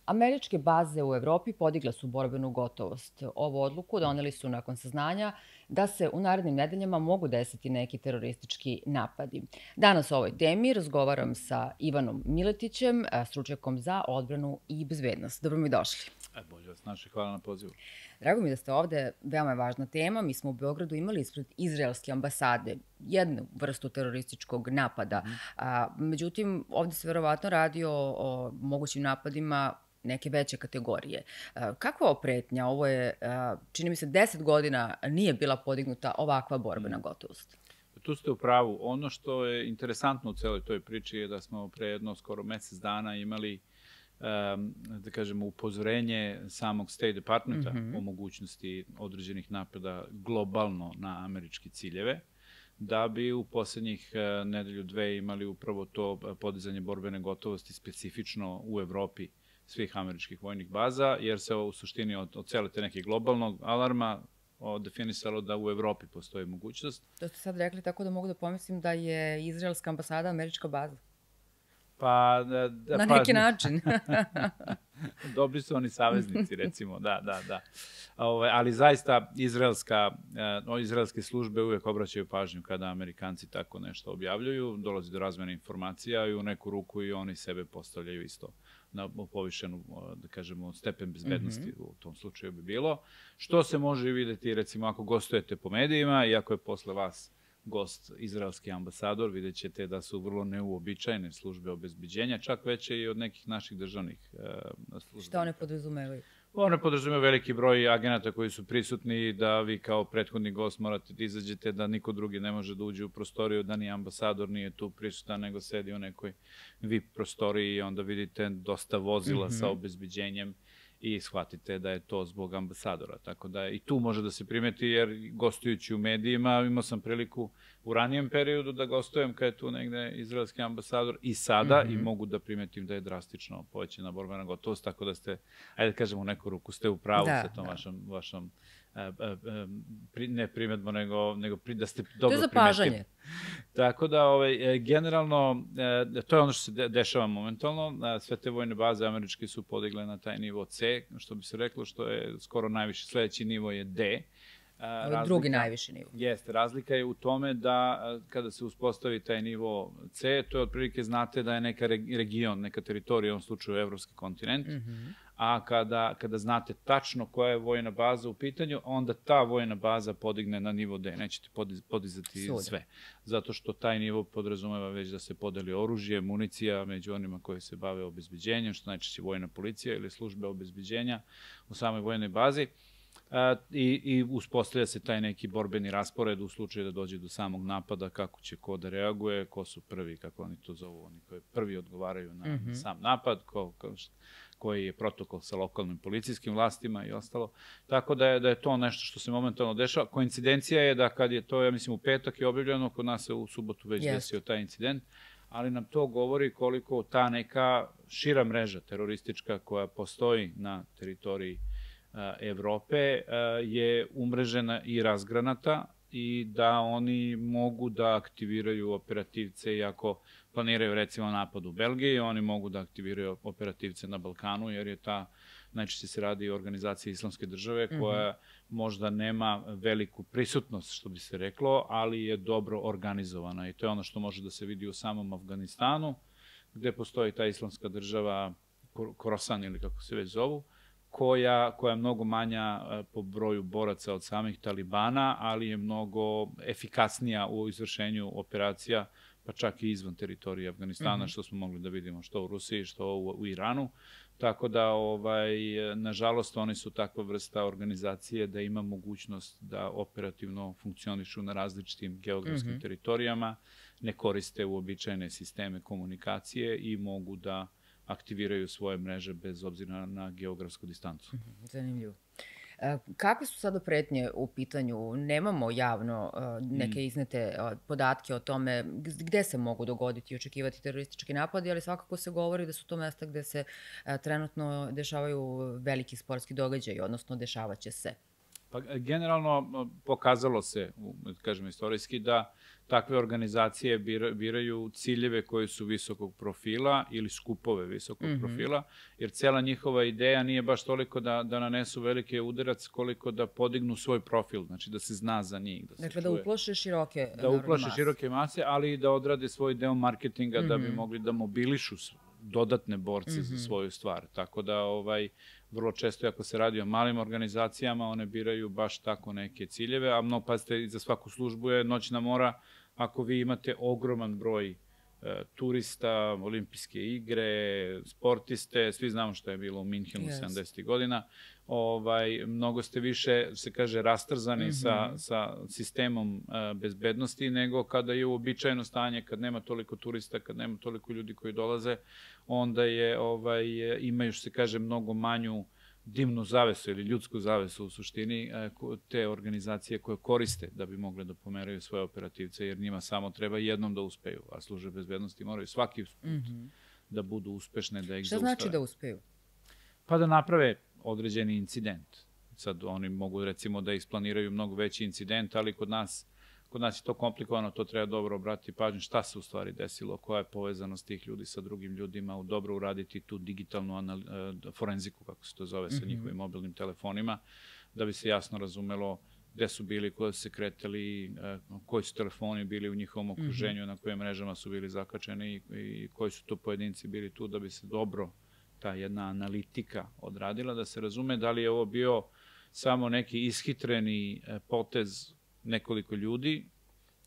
Američke baze u Evropi podigle su borbenu gotovost. Ovu odluku doneli su nakon saznanja da se u narednim nedeljama mogu desiti neki teroristički napadi. Danas o ovoj temi razgovaram sa Ivanom Miletićem, stručnjakom za odbranu i bezbednost. Dobro mi došli. Bolje vas našli, hvala na pozivu. Drago mi da ste ovde, veoma je važna tema. Mi smo u Beogradu imali ispred izraelske ambasade jednu vrstu terorističkog napada. Međutim, ovde se verovatno radi o mogućim napadima neke veće kategorije. Kakva je pretnja? Ovo je, čini mi se, 10 godina nije bila podignuta ovakva borbena gotovost. Tu ste u pravu. Ono što je interesantno u celoj toj priči je da smo pre jedno skoro mesec dana imali da kažemo, upozorenje samog State Departmenta o mogućnosti određenih napada globalno na američke ciljeve, da bi u poslednjih nedelju, dve imali upravo to podizanje borbene gotovosti specifično u Evropi svih američkih vojnih baza, jer se u suštini od cele te neke globalnog alarma definisalo da u Evropi postoji mogućnost. To ste sad rekli tako da mogu da pomislim da je izraelska ambasada američka baza. Pa, na neki način. Dobri su oni saveznici, recimo, da. Ali zaista izraelske službe uvek obraćaju pažnju kada Amerikanci tako nešto objavljuju, dolazi do razmene informacija i u neku ruku i oni sebe postavljaju isto na povišenu, da kažemo, stepen bezbednosti u tom slučaju bi bilo. Što se može videti, recimo, ako gostujete po medijima i ako je posle vas gost izraelski ambasador, vidjet ćete da su vrlo neuobičajene službe obezbeđenja, čak veće i od nekih naših državnih službe. Šta one podrazumevaju? One podrazumevaju veliki broj agenata koji su prisutni, da vi kao prethodni gost morate da izađete, da niko drugi ne može da uđe u prostoriju, da ni ambasador nije tu prisutan, nego sedi u nekoj VIP prostoriji i onda vidite dosta vozila sa obezbeđenjem i shvatite da je to zbog ambasadora. Tako da i tu može da se primeti, jer gostujući u medijima imao sam priliku u ranijem periodu da gostujem kad je tu negde izraelski ambasador i sada i mogu da primetim da je drastično povećana borbena gotovost, tako da ste, ajde da kažemo, u neku ruku ste u pravu sa tom vašom ne primetbo, nego da ste dobro primetili. To je zapažanje. Tako da, generalno, to je ono što se dešava momentalno. Sve te vojne baze američke su podigle na taj nivo C, što bi se reklo, što je skoro najviši. Sledeći nivo je D. Drugi najviši nivo. Jeste, razlika je u tome da kada se uspostavi taj nivo C, to je otprilike znate da je neka region, neka teritorija, u ovom slučaju evropski kontinent, a kada znate tačno koja je vojna baza u pitanju, onda ta vojna baza podigne na nivo D. Nećete podizati sve. Zato što taj nivo podrazumeva već da se podeli oružje, municija među onima koji se bave obezbeđenjem, što najčešće vojna policija ili službe obezbeđenja u samoj vojnoj bazi. I uspostavlja se taj neki borbeni raspored u slučaju da dođe do samog napada, kako će ko da reaguje, ko su prvi, kako oni to zovu, oni koji prvi odgovaraju na sam napad, koji je protokol sa lokalnim policijskim vlastima i ostalo. Tako da je to nešto što se momentalno dešava. Koincidencija je da kad je to, ja mislim, u petak je objavljeno, kod nas se u subotu već desio taj incident, ali nam to govori koliko ta neka šira mreža teroristička koja postoji na teritoriji Evrope je umrežena i razgranata i da oni mogu da aktiviraju operativce i ako planiraju recimo napad u Belgiji, oni mogu da aktiviraju operativce na Balkanu, jer je najčešće se radi o organizaciji Islamske države koja možda nema veliku prisutnost, što bi se reklo, ali je dobro organizovana i to je ono što može da se vidi u samom Afganistanu, gde postoji ta Islamska država, Khorasan ili kako se već zovu, koja je mnogo manja po broju boraca od samih Talibana, ali je mnogo efikasnija u izvršenju operacija, pa čak i izvan teritorije Afganistana, što smo mogli da vidimo što u Rusiji, što u Iranu. Tako da, nažalost, oni su takva vrsta organizacije da ima mogućnost da operativno funkcionišu na različitim geografskim teritorijama, ne koriste uobičajene sisteme komunikacije i mogu da aktiviraju svoje mreže bez obzira na geografsku distancu. Zanimljivo. Kakve su sada pretnje u pitanju? Nemamo javno neke iznete podatke o tome gde se mogu dogoditi i očekivati teroristički napadi, ali svakako se govori da su to mesta gde se trenutno dešavaju veliki sportski događaji, odnosno dešavaće se. Pa generalno pokazalo se, kažem istorijski, da takve organizacije biraju ciljeve koji su visokog profila ili skupove visokog profila, jer cijela njihova ideja nije baš toliko da nanesu velike udarac, koliko da podignu svoj profil, znači da se zna za njih. Dakle, da uplaše široke da uplaše široke mase, ali i da odrade svoj deo marketinga da bi mogli da mobilišu dodatne borce za svoju stvar. Tako da vrlo često ako se radi o malim organizacijama, one biraju baš tako neke ciljeve, a pazite, za svaku službu je noćna mora. Ako vi imate ogroman broj turista, olimpijske igre, sportiste, svi znamo što je bilo u Minhenu 70. godina, mnogo ste više, se kaže, rastrzani sa sistemom bezbednosti nego kada je uobičajeno stanje, kad nema toliko turista, kad nema toliko ljudi koji dolaze, onda imaju, se kaže, mnogo manju dimnu zavesu ili ljudsku zavesu u suštini te organizacije koje koriste da bi mogle da pomeraju svoje operativce, jer njima samo treba jednom da uspeju, a službe bezbednosti moraju svaki put da budu uspešne, da ih zaustave. Šta znači da uspeju? Pa da naprave određeni incident. Sad oni mogu recimo da isplaniraju mnogo veći incident, ali kod nas je to komplikovano, to treba dobro obratiti pažnju šta se u stvari desilo, koja je povezanost tih ljudi sa drugim ljudima, dobro uraditi tu digitalnu forenziku, kako se to zove, sa njihovim mobilnim telefonima, da bi se jasno razumelo gde su bili, koje su se kretali, koji su telefoni bili u njihovom okruženju, na kojim mrežama su bili zakačeni i koji su to pojedinci bili tu, da bi se dobro ta jedna analitika odradila, da se razume da li je ovo bio samo neki ishitreni potez nekoliko ljudi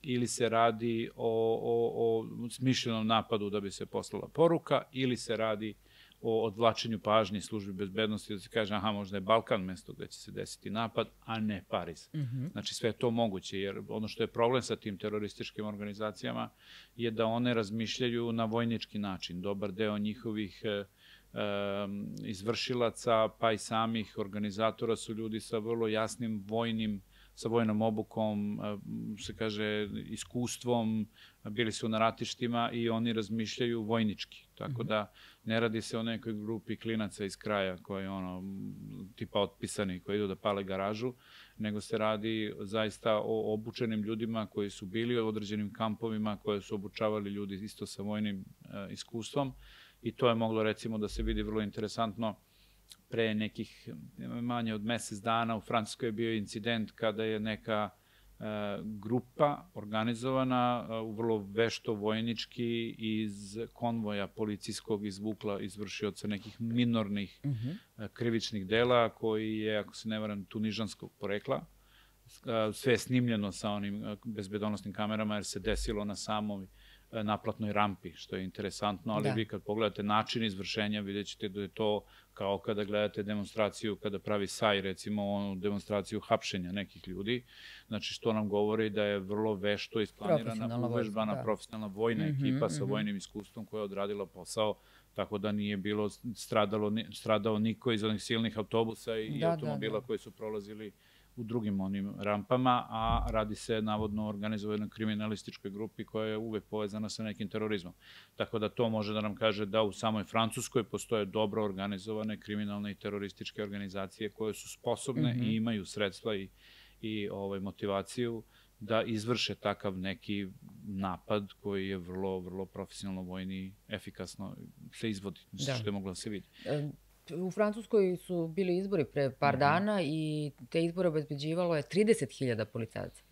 ili se radi o smišljenom napadu da bi se poslala poruka ili se radi o odvlačenju pažnje službi bezbednosti da se kaže aha, možda je Balkan mesto gde će se desiti napad, a ne Pariz. Znači sve je to moguće, jer ono što je problem sa tim terorističkim organizacijama je da one razmišljaju na vojnički način. Dobar deo njihovih izvršilaca, pa i samih organizatora su ljudi sa vrlo jasnim sa vojnom obukom, se kaže, iskustvom, bili su na ratištima i oni razmišljaju vojnički. Tako da ne radi se o nekoj grupi klinaca iz kraja koji tipa otpisani, koji idu da pale garažu, nego se radi zaista o obučenim ljudima koji su bili u određenim kampovima, koje su obučavali ljudi isto sa vojnim iskustvom i to je moglo recimo da se vidi vrlo interesantno. Pre nekih manje od mesec dana u Francuskoj je bio incident kada je neka grupa organizovana u vrlo vešto vojnički iz konvoja policijskog izvukla izvršioca nekih minornih krivičnih dela koji je, ako se ne varam, tunižanskog porekla. Sve je snimljeno sa onim bezbedonosnim kamerama jer se desilo na samoj naplatnoj rampi, što je interesantno, ali vi kad pogledate način izvršenja, vidjet ćete da je to kao kada gledate demonstraciju, kada pravi SAJ, recimo demonstraciju hapšenja nekih ljudi, znači što nam govori da je vrlo vešto isplanirana, uvežbana, profesionalna vojna ekipa sa vojnim iskustvom koja je odradila posao, tako da nije bilo stradao niko iz onih silnih autobusa i automobila koji su prolazili u drugim onim rampama, a radi se navodno o organizovanoj kriminalističkoj grupi koja je uvek povezana sa nekim terorizmom. Tako da to može da nam kaže da u samoj Francuskoj postoje dobro organizovane kriminalne i terorističke organizacije koje su sposobne i imaju sredstva i motivaciju da izvrše takav neki napad koji je vrlo, vrlo profesionalno vojni, efikasno se izvodi, što je moglo da se vidi. U Francuskoj su bili izbori pre par dana i te izbore obezbeđivalo je 30.000 policajaca.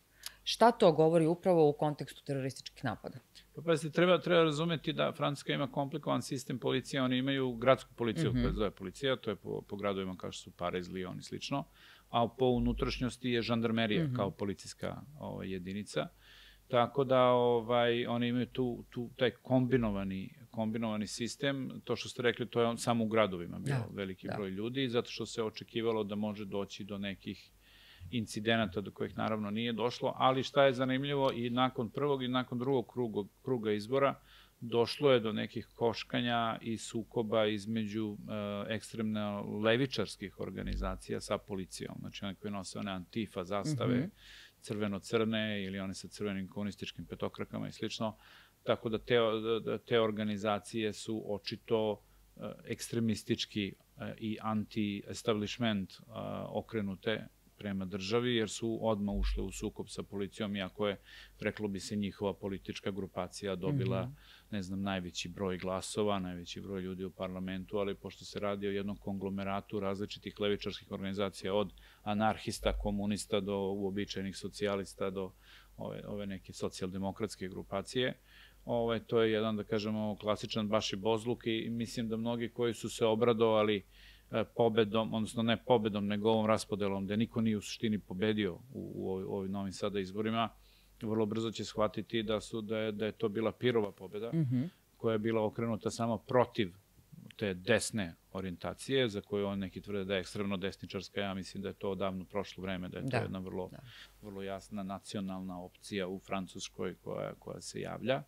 Šta to govori upravo u kontekstu terorističkih napada? Pa pazite, treba razumeti da Francuska ima komplikovan sistem policije, oni imaju gradsku policiju koja se zove policija, to je po gradovima kao što su Pariz, Lyon i slično, a po unutrašnjosti je žandarmerija kao policijska jedinica. Tako da oni imaju taj kombinovani sistem. To što ste rekli, to je samo u gradovima bio veliki broj ljudi, zato što se očekivalo da može doći do nekih incidenata do kojih naravno nije došlo, ali šta je zanimljivo, i nakon prvog i nakon drugog kruga izbora došlo je do nekih koškanja i sukoba između ekstremno levičarskih organizacija sa policijom. Znači one koje nose one antifa zastave, crveno-crne ili one sa crvenim komunističkim petokrakama i slično. Tako da te organizacije su očito ekstremistički i anti-establishment okrenute prema državi, jer su odmah ušle u sukob sa policijom, iako je, reklo bi se, njihova politička grupacija dobila, ne znam, najveći broj glasova, najveći broj ljudi u parlamentu, ali pošto se radi o jednom konglomeratu različitih levičarskih organizacija, od anarhista, komunista do uobičajenih socijalista, do ove neke socijaldemokratske grupacije, to je jedan, da kažemo, klasičan baš i bozluk i mislim da mnogi koji su se obradovali pobedom, odnosno ne pobedom, nego ovom raspodelom, gde niko nije u suštini pobedio u ovim novim sada izborima, vrlo brzo će shvatiti da je to bila Pirova pobeda, koja je bila okrenuta samo protiv te desne orijentacije, za koju on neki tvrde da je ekstremno desničarska. Ja mislim da je to odavno prošlo vreme, da je to jedna vrlo jasna nacionalna opcija u Francuskoj koja se javlja,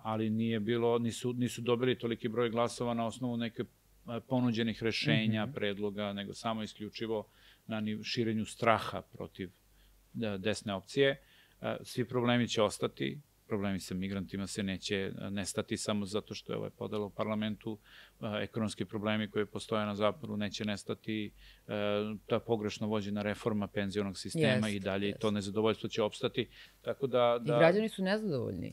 ali nisu dobili toliki broj glasova na osnovu neke ponuđenih rešenja, predloga, nego samo isključivo na širenju straha protiv desne opcije. Svi problemi će ostati, problemi sa migrantima se neće nestati samo zato što je ovaj podela u parlamentu, ekonomski problemi koji postoje na zapadu neće nestati, ta pogrešno vođena reforma penzionog sistema i dalje, i to nezadovoljstvo će opstati. I građani su nezadovoljni.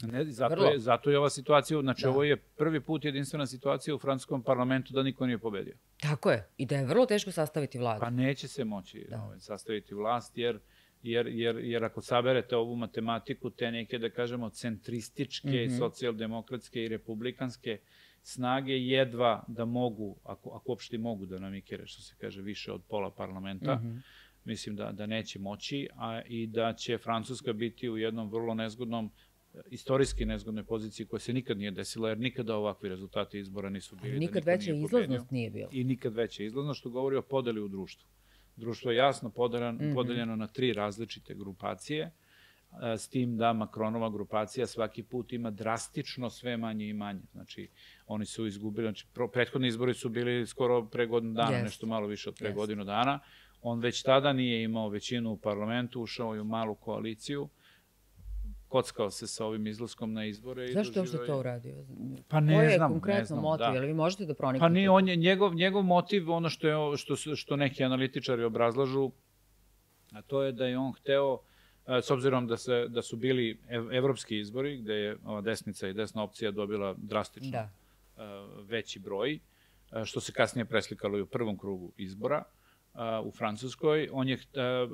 Zato je ova situacija, znači ovo je prvi put jedinstvena situacija u francuskom parlamentu da niko nije pobedio. Tako je, i da je vrlo teško sastaviti vladu. Pa neće se moći sastaviti vlast, jer ako saberete ovu matematiku, te neke, da kažemo, centrističke, socijaldemokratske i republikanske snage jedva da mogu, ako uopšte mogu da namikere, što se kaže, više od pola parlamenta, mislim da neće moći, i da će Francuska biti u jednom vrlo nezgodnom, istorijski nezgodnoj poziciji koja se nikad nije desila, jer nikada ovakvi rezultati izbora nisu bili. Nikad veća izlaznost nije bila. I nikad veća izlaznost, što govori o podeli u društvu. Društvo je jasno podeljeno na 3 različite grupacije, s tim da Macronova grupacija svaki put ima drastično sve manje i manje. Znači, oni su izgubili, znači, prethodni izbori su bili skoro pre godinu dana, nešto malo više od pre godinu dana. On već tada nije imao većinu u parlamentu, ušao je u malu koaliciju, kockao se sa ovim izlaskom na izbore. Zašto je uopšte to uradio? Pa ne znam. Koji je konkretno motiv? Ili vi možete da proniknete? Pa nije, njegov motiv, ono što neki analitičari obrazlažu, a to je da je on hteo, s obzirom da su bili evropski izbori, gde je ova desnica i desna opcija dobila drastično veći broj, što se kasnije preslikalo i u prvom krugu izbora u Francuskoj, on je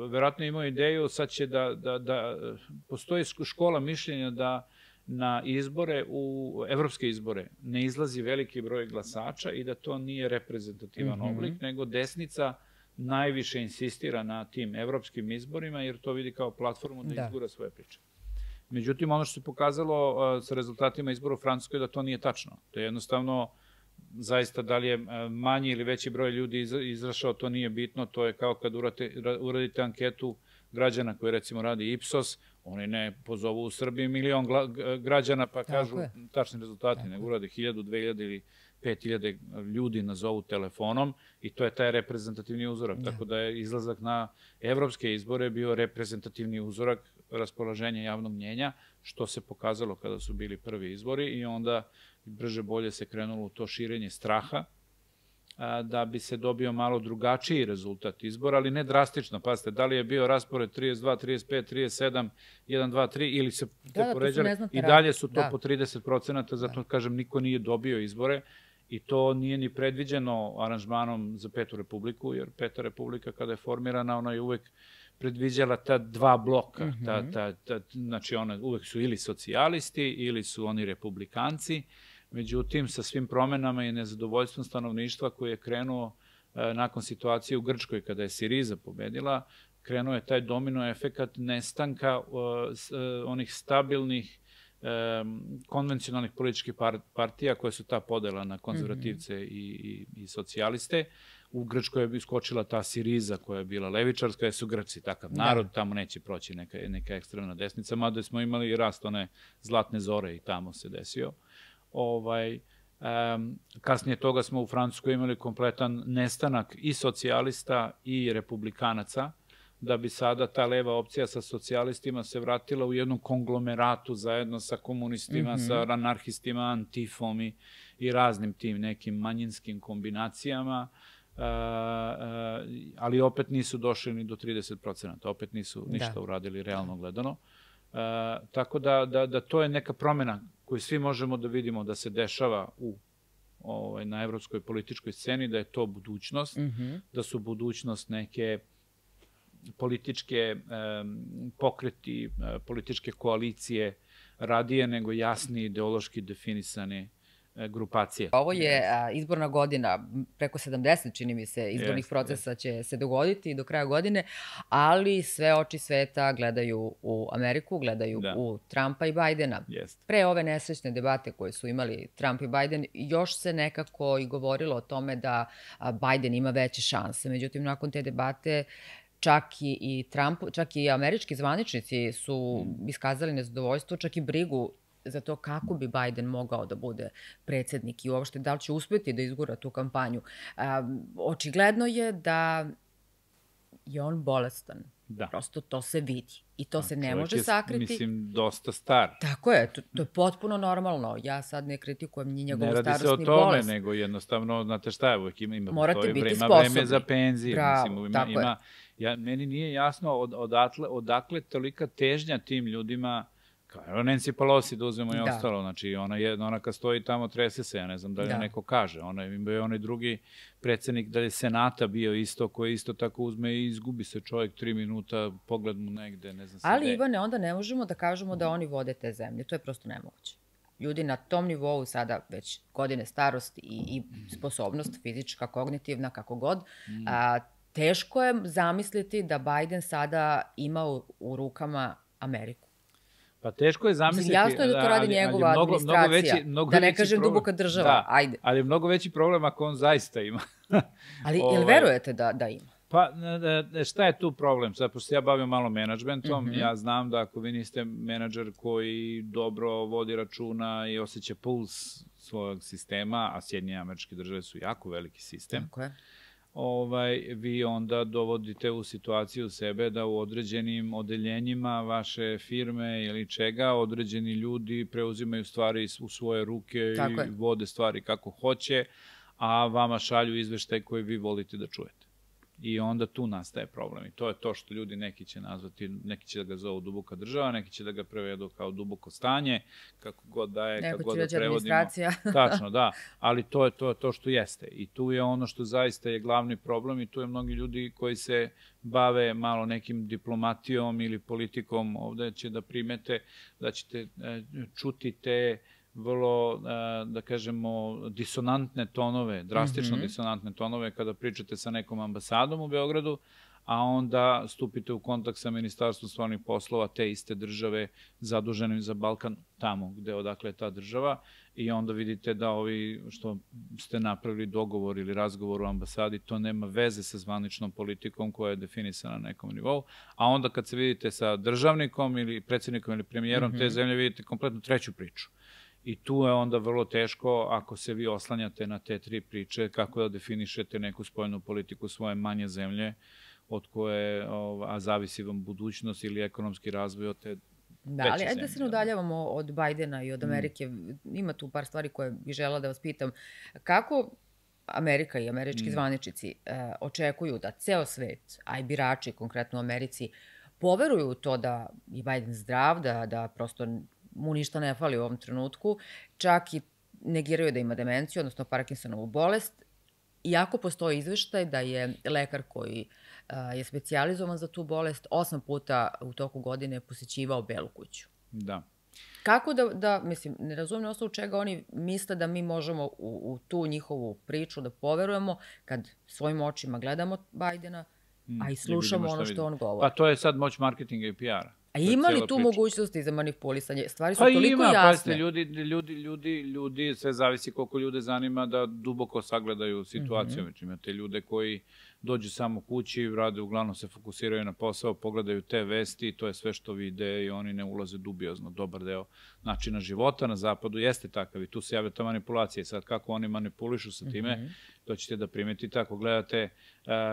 verovatno imao ideju, sad će da postoji škola mišljenja da na izbore, u evropske izbore, ne izlazi veliki broj glasača i da to nije reprezentativan oblik, nego desnica najviše insistira na tim evropskim izborima, jer to vidi kao platformu da izgura svoje priče. Međutim, ono što se pokazalo sa rezultatima izbora u Francuskoj da to nije tačno. To je jednostavno, zaista, da li je manji ili veći broj ljudi izašao, to nije bitno. To je kao kad uradite anketu građana koji, recimo, radi Ipsos, oni ne pozovu u Srbiji 1.000.000 građana pa kažu tačni rezultati, nego urade 1.000, 2.000 ili 5.000 ljudi nazovu telefonom i to je taj reprezentativni uzorak. Tako da je izlazak na evropske izbore bio reprezentativni uzorak raspoloženja javnog mnjenja, što se pokazalo kada su bili prvi izbori, i onda brže bolje se krenulo u to širenje straha, da bi se dobio malo drugačiji rezultat izbora, ali ne drastično. Pazite, da li je bio raspored 32, 35, 37, 1, 2, 3, ili se te poređali, i dalje su to po 30%, zato kažem, niko nije dobio izbore, i to nije ni predviđeno aranžmanom za Petu republiku, jer Peta republika kada je formirana, ona je uvek predviđala ta 2 bloka. Znači, uvek su ili socijalisti, ili su oni republikanci. Međutim, sa svim promenama i nezadovoljstvom stanovništva koji je krenuo nakon situacije u Grčkoj, kada je Siriza pobedila, krenuo je taj domino efekat nestanka onih stabilnih, konvencionalnih političkih partija koje su ta podela na konzervativce i socijaliste. U Grčkoj je iskočila ta Siriza koja je bila levičarska, jer su Grci takav narod, tamo neće proći neka ekstremna desnica, mada smo imali i rast one zlatne zore i tamo se desio. Kasnije toga smo u Francuskoj imali kompletan nestanak i socijalista i republikanaca, da bi sada ta leva opcija sa socijalistima se vratila u jednom konglomeratu zajedno sa komunistima, sa anarhistima, antifom i raznim tim nekim manjinskim kombinacijama, ali opet nisu došli ni do 30%, opet nisu ništa uradili realno gledano. Tako da to je neka promena koju svi možemo da vidimo da se dešava na evropskoj političkoj sceni, da je to budućnost, da su budućnost neke političke pokreti, političke koalicije radije nego jasni ideološki definisane grupacije. Ovo je izborna godina, preko 70, čini mi se, izbornih procesa će se dogoditi do kraja godine, ali sve oči sveta gledaju u Ameriku, gledaju u Trumpa i Bajdena. Pre ove nesrećne debate koje su imali Trump i Bajden, još se nekako i govorilo o tome da Bajden ima veće šanse. Međutim, nakon te debate čak i američki zvaničnici su iskazali nezadovoljstvo, čak i brigu za to kako bi Bajden mogao da bude predsjednik i uopšte da li će uspjeti da izgura tu kampanju. Očigledno je da je on bolestan. Prosto to se vidi i to se ne može sakriti. Mislim, dosta star. Tako je, to je potpuno normalno. Ja sad ne kritikujem ni njegovu starostni bolest. Ne radi se o tome, nego jednostavno, znate šta je, uvijek ima vreme za penzije. Bravo, tako je. Meni nije jasno odakle tolika težnja tim ljudima. Evo Nancy Pelosi da uzmemo i ostalo, znači ona kad stoji tamo trese se, ja ne znam da li neko kaže, onaj drugi predsjednik da je Senata bio isto, koji isto tako uzme i izgubi se čovjek 3 minuta, pogled mu negde, ne znam se gde. Ali Ivane, onda ne možemo da kažemo da oni vode te zemlje, to je prosto nemoguće. Ljudi na tom nivou sada već godine starosti i sposobnost fizička, kognitivna, kako god, teško je zamisliti da Bajden sada ima u rukama Ameriku. Pa teško je zamisliti... Jasno je da to radi njegova administracija, da ne kažem duboka država, ajde. Ali je mnogo veći problem ako on zaista ima. Ali jel verujete da ima? Pa šta je tu problem? Sad, pošto ja bavim malo menadžmentom, ja znam da ako vi niste menadžer koji dobro vodi računa i osjeća puls svojeg sistema, a Sjedinjene Američke Države su jako veliki sistem, tako je, vi onda dovodite u situaciju sebe da u određenim odeljenjima vaše firme ili čega određeni ljudi preuzimaju stvari u svoje ruke i vode stvari kako hoće, a vama šalju izveštaj koji vi volite da čujete. I onda tu nastaje problem. I to je to što ljudi neki će nazvati, neki će da ga zovu duboka država, neki će da ga prevedu kao duboko stanje, kako god da je, kako god da prevodimo. Tačno, da. Ali to je to što jeste. I tu je ono što zaista je glavni problem i tu je mnogi ljudi koji se bave malo nekim diplomatijom ili politikom, ovde će da primete da ćete čuti te vrlo, da kažemo, disonantne tonove, drastično disonantne tonove kada pričate sa nekom ambasadom u Beogradu, a onda stupite u kontakt sa Ministarstvom spoljnih poslova te iste države zaduženim za Balkan, tamo gde odakle je ta država, i onda vidite da ovi što ste napravili dogovor ili razgovor u ambasadi, to nema veze sa zvaničnom politikom koja je definisana na nekom nivou, a onda kad se vidite sa državnikom ili predsjednikom ili premijerom te zemlje, vidite kompletno treću priču. I tu je onda vrlo teško, ako se vi oslanjate na te 3 priče, kako da definišete neku spoljnu politiku svoje manje zemlje, od koje, a zavisi vam budućnost ili ekonomski razvoj od te veće zemlje. Da, ali ajde da se ne udaljavamo od Bajdena i od Amerike. Ima tu par stvari koje bih želela da vas pitam. Kako Amerika i američki zvaničnici očekuju da ceo svet, a i birači konkretno u Americi, poveruju u to da je Bajden zdrav, da prosto mu ništa ne fali u ovom trenutku, čak i negiraju da ima demenciju, odnosno Parkinsonovu bolest, iako postoji izveštaj da je lekar koji je specijalizovan za tu bolest 8 puta u toku godine posjećivao Belu kuću. Da. Kako mislim, ne razumijem na osnovu čega oni misle da mi možemo u tu njihovu priču da poverujemo kad svojim očima gledamo Bajdena, a i slušamo ono što on govori. Pa to je sad moć marketinga i PR-a. A ima li tu mogućnosti za manipulisanje? Stvari su toliko jasne. Pa ima, ljudi, sve zavisi koliko ljude zanima da duboko sagledaju situaciju. Imate ljude koji dođu samo kući, rade, uglavnom se fokusiraju na posao, pogledaju te vesti, to je sve što vide i oni ne ulaze dubiozno. Dobar deo načina života na zapadu jeste takav i tu se javlja ta manipulacija. Sad kako oni manipulišu sa time, to ćete da primetite. Ako gledate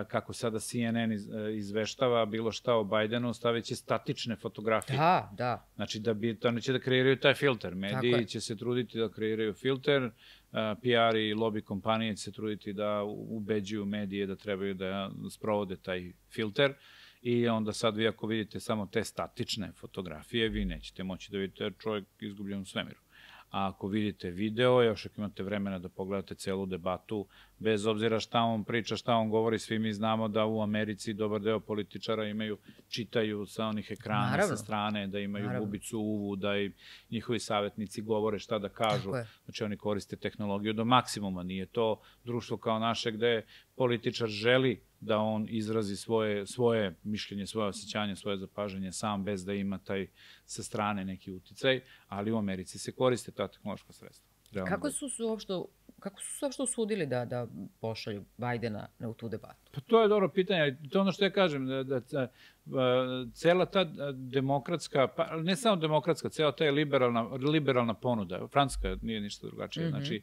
kako sada CNN izveštava bilo šta o Bajdenu, stavit će statične fotografije. Da. Znači, oni će da kreiraju taj filter. Mediji će se truditi da kreiraju filter, PR i lobby kompanije će se truditi da ubeđuju medije da trebaju da sprovode taj filter i onda sad vi ako vidite samo te statične fotografije, vi nećete moći da vidite čovjek izgubljen u svemiru. A ako vidite video, još ako imate vremena da pogledate celu debatu, bez obzira šta on priča, šta on govori, svi mi znamo da u Americi dobar deo političara čitaju sa onih ekrana sa strane, da imaju bubicu u uvu, da i njihovi savjetnici govore šta da kažu. Znači oni koriste tehnologiju do maksimuma. Nije to društvo kao naše gde političar želi da on izrazi svoje mišljenje, svoje osjećanje, svoje zapažanje sam, bez da ima taj sa strane neki uticaj, ali u Americi se koriste ta tehnološka sredstva. Kako su se uopšte usudili da pošalju Bajdena u tu debatu? Pa to je dobro pitanje. To je ono što ja kažem, da cela ta demokratska, pa ne samo demokratska, cela ta je liberalna ponuda. Francuska nije ništa drugačije. Znači,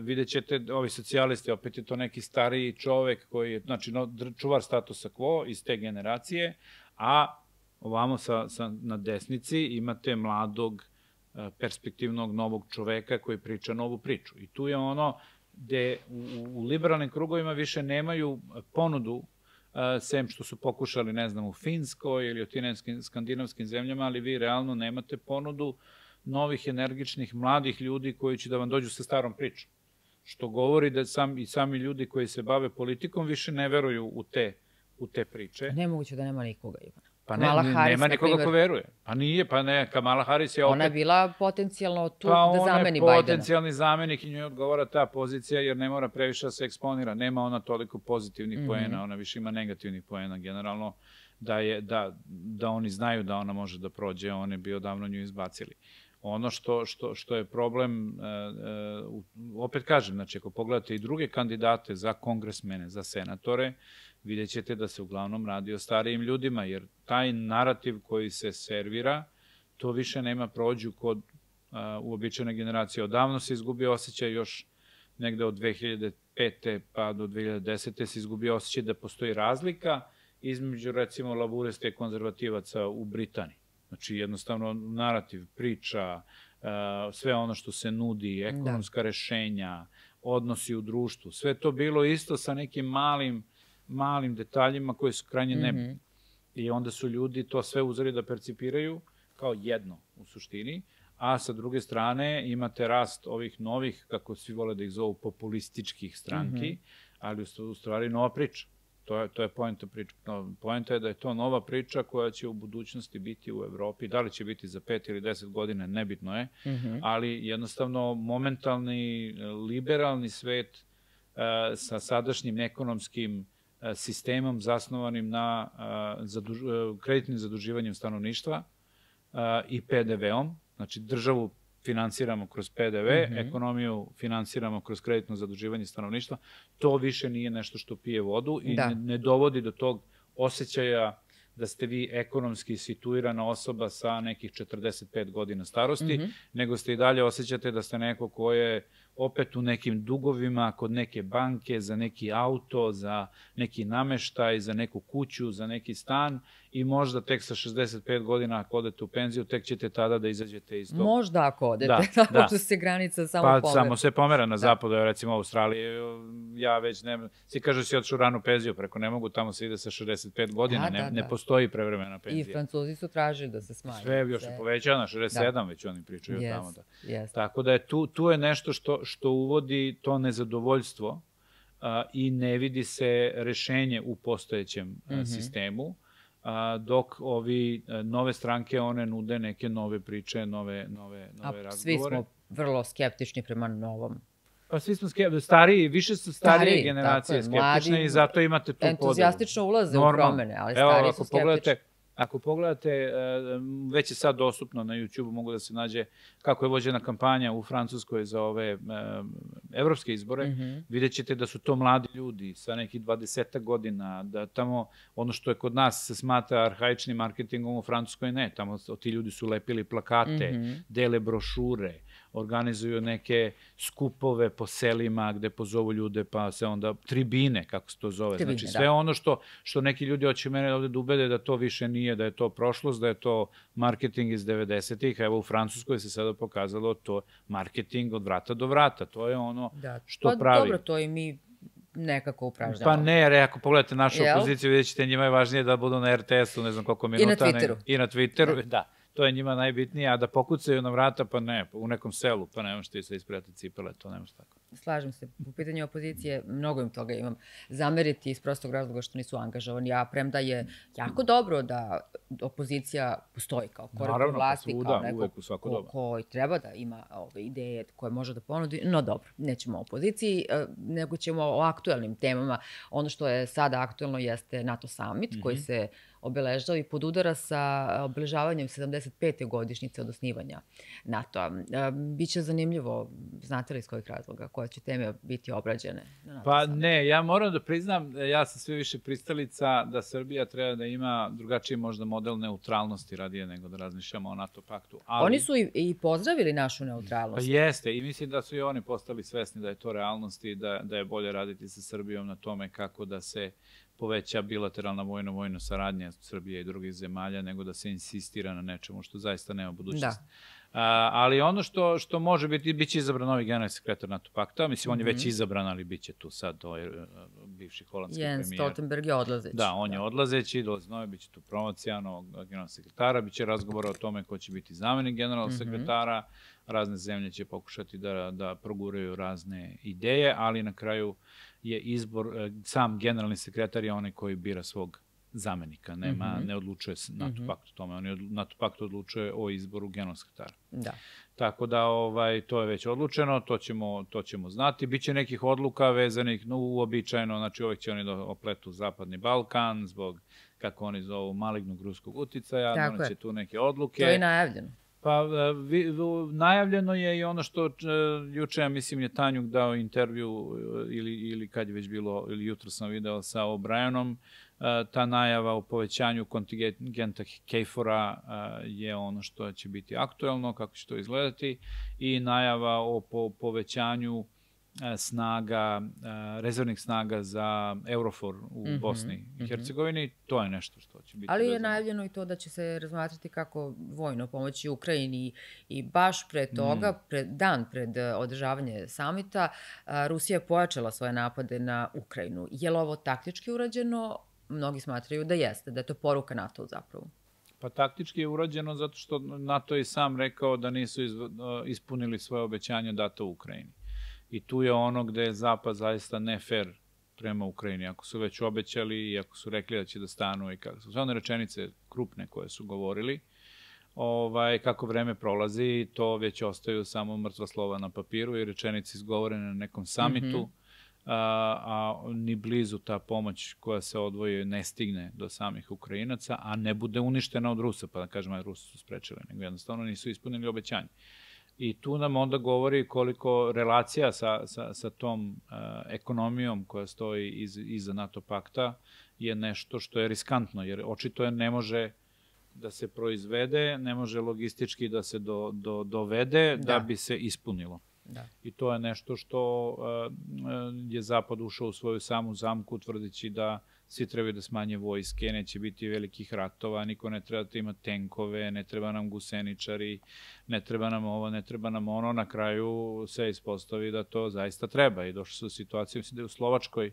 vidjet ćete, ovi socijalisti, opet je to neki stariji čovek koji je, znači, čuvar statusa quo iz te generacije, a ovamo na desnici imate mladog, perspektivnog novog čoveka koji priča novu priču. I tu je ono gde u liberalnim krugovima više nemaju ponudu, sem što su pokušali, ne znam, u Finskoj ili u tim skandinavskim zemljama, ali vi realno nemate ponudu novih, energičnih, mladih ljudi koji će da vam dođu sa starom pričom. Što govori da i sami ljudi koji se bave politikom više ne veruju u te priče. Nemoguće da nema nikoga, Ivana. Pa nema nikoga ko veruje. Pa nije, pa ne, Kamala Harris je opet... Ona je bila potencijalno tu da zameni Bajdena. Pa ona je potencijalni zamenik i njoj odgovara ta pozicija jer ne mora previše da se eksponira. Nema ona toliko pozitivnih poena, ona više ima negativnih poena. Generalno da oni znaju da ona može da prođe, oni bi odavno nju izbacili. Ono što je problem, opet kažem, znači ako pogledate i druge kandidate za kongresmene, za senatore, vidjet ćete da se uglavnom radi o starijim ljudima, jer taj narativ koji se servira, to više nema prođu kod uobičajene generacije. Odavno se izgubio osjećaj još negde od 2005. pa do 2010. se izgubio osjećaj da postoji razlika između, recimo, laburista i konzervativaca u Britaniji. Znači, jednostavno, narativ, priča, sve ono što se nudi, ekonomska rešenja, odnosi u društvu, sve to bilo isto sa nekim malim detaljima koji su krajnje nebitni. I onda su ljudi to sve uzeli da percipiraju kao jedno u suštini, a sa druge strane imate rast ovih novih, kako svi vole da ih zovu, populističkih stranki, ali u stvari nova priča. To je poenta priče. Poenta je da je to nova priča koja će u budućnosti biti u Evropi. Da li će biti za 5 ili 10 godina, nebitno je, ali jednostavno momentalni liberalni svet sa sadašnjim ekonomskim sistemom zasnovanim na kreditnim zaduživanjem stanovništva i PDV-om, znači državu finansiramo kroz PDV, ekonomiju finansiramo kroz kreditno zaduživanje stanovništva, to više nije nešto što pije vodu i ne dovodi do tog osjećaja da ste vi ekonomski situirana osoba sa nekih 45 godina starosti, nego ste i dalje osjećate da ste neko ko je opet u nekim dugovima kod neke banke, za neki auto, za neki nameštaj, za neku kuću, za neki stan i možda tek sa 65 godina ako odete u penziju, tek ćete tada da izađete iz tog. Možda ako odete, tako što se granica samo pomera. Pa samo se pomera na zapadu, recimo u Australiji, ja već ne, svi kažu si otišu ranu penziju, preko ne mogu, tamo se ide sa 65 godina, ne postoji prevremena penzija. I Francuzi su tražili da se smanji. Sve još je povećano, 67 već oni pričaju tamo. Tako da je tu je nešto što uvodi to nezadovoljstvo i ne vidi se rešenje u postojećem sistemu, dok ovi nove stranke, one nude neke nove priče, nove razgovore. Svi smo vrlo skeptični prema novom. Pa svi smo skeptični, više su starije generacije skeptične i zato imate tu podelu. Entuzijastično ulaze u promene, ali stariji su skeptični. Ako pogledate, već je sad dostupno na YouTube, mogu da se nađe kako je vođena kampanja u Francuskoj za ove evropske izbore, vidjet ćete da su to mladi ljudi sa nekih 20 godina, da tamo ono što je kod nas se smatra arhaičnim marketingom, u Francuskoj ne, tamo ti ljudi su lepili plakate, dele brošure, organizuju neke skupove po selima gde pozovu ljude, pa se onda tribine, kako se to zove. Tribine, znači sve ono što neki ljudi hoće mene ovde da ubede da to više nije, da je to prošlost, da je to marketing iz 90-ih. Evo u Francuskoj se sada pokazalo to marketing od vrata do vrata. To je ono što pravi. Dobro, to i mi nekako upražnjavamo. Pa ne, jer ako pogledate našu opoziciju, vidjet ćete, njima je važnije da budu na RTS-u, ne znam koliko minuta. I na Twitteru. I na Twitteru, da. To je njima najbitnije, a da pokucaju na vrata, pa ne, u nekom selu, pa nemaš ti se isprijati cipele, to nemaš tako. Slažem se, u pitanju opozicije mnogo im toga imam zameriti iz prostog razloga što nisu angažovani, a premda je jako dobro da opozicija postoji kao korektor vlasti, kao neko koji treba da ima ove ideje koje može da ponudi, no dobro, nećemo o opoziciji, nego ćemo o aktuelnim temama. Ono što je sada aktuelno jeste NATO summit, koji se obeležava i podudara sa obeležavanjem 75. godišnjice od osnivanja NATO-a. Biće zanimljivo, znate li iz kojih razloga, koje će teme biti obrađene? Pa ne, ja moram da priznam, ja sam sve više pristalica da Srbija treba da ima drugačiji možda model neutralnosti radije nego da razmišljamo o NATO paktu. Oni su i pozdravili našu neutralnost. Pa jeste, i mislim da su i oni postali svesni da je to realnost i da je bolje raditi sa Srbijom na tome kako da se poveća bilateralna vojno saradnja Srbije i drugih zemalja, nego da se insistira na nečemu što zaista nema budućnost. Ali ono što može biti, bit će izabran novi generalni sekretar NATO pakta, mislim, on je već izabran, ali bit će tu sad bivši holandski premijer. Jens Stoltenberg je odlazeći. Da, on je odlazeći, dolazi novi, bit će tu promocija novog generalnog sekretara, bit će razgovora o tome ko će biti zamenik generalnog sekretara, razne zemlje će pokušati da proguraju razne ideje, ali na kraju je izbor, sam generalni sekretar je onaj koji bira svog zamenika, ne odlučuje NATO pakt o tome, NATO pakt odlučuje o izboru generalnog sekretara. Da. Tako da to je već odlučeno, to ćemo znati. Biće nekih odluka vezanih, uobičajeno, znači uvek će oni da opletu Zapadni Balkan zbog, kako oni zovu, malignog ruskog uticaja, doneće tu neke odluke. To je najavljeno. Pa, najavljeno je i ono što juče, ja mislim, je Tanjuk dao intervju ili kad je već bilo, ili jutro sam video sa O'Brienom, ta najava o povećanju kontingenta KFOR-a je ono što će biti aktuelno, kako će to izgledati, i najava o povećanju snaga, rezervnih snaga za EUROFOR u Bosni i Hercegovini, to je nešto što će biti. Ali je najavljeno i to da će se razmatrati kako vojno pomoći Ukrajini i baš pre toga, dan pred održavanje samita, Rusija je pojačala svoje napade na Ukrajinu. Je li ovo taktički urađeno? Mnogi smatraju da jeste, da je to poruka NATO zapravo. Pa taktički je urađeno zato što NATO je sam rekao da nisu ispunili svoje obećanja data u Ukrajini. I tu je ono gde je Zapad zaista ne fair prema Ukrajini. Ako su već obećali i ako su rekli da će da stanu i kako su sve one rečenice krupne koje su govorili, kako vreme prolazi, to već ostaju samo mrtva slova na papiru i rečenice izgovorene na nekom samitu, a ni blizu ta pomoć koja se odvoji ne stigne do samih Ukrajinaca, a ne bude uništena od Rusa, pa da kažemo, Rusi su sprečili, nego jednostavno nisu ispunili obećanje. I tu nam onda govori koliko relacija sa tom ekonomijom koja stoji iza NATO pakta je nešto što je riskantno, jer očito ne može da se proizvede, ne može logistički da se dovede da bi se ispunilo. I to je nešto što je Zapad ušao u svoju samu zamku, tvrdeći da svi trebaju da smanje vojske, neće biti velikih ratova, niko ne treba da ima tenkove, ne treba nam guseničari, ne treba nam ovo, ne treba nam ono. Na kraju se ispostavi da to zaista treba i došli su u situaciju, mislim da je u Slovačkoj,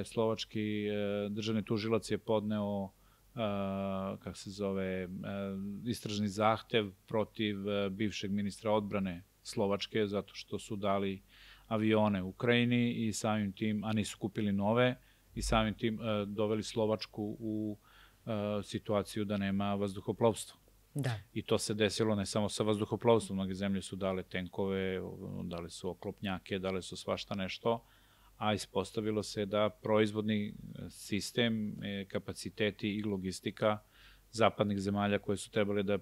slovački državni tužilac je podneo istražni zahtev protiv bivšeg ministra odbrane Slovačke, zato što su dali avione Ukrajini i samim tim, a nisu kupili nove, i samim tim doveli Slovačku u situaciju da nema vazduhoplovstva. I to se desilo ne samo sa vazduhoplovstvom, mnoge zemlje su dale tenkove, dale su oklopnjake, dale su svašta nešto, a ispostavilo se da proizvodni sistem, kapaciteti i logistika zapadnih zemalja koje su trebali da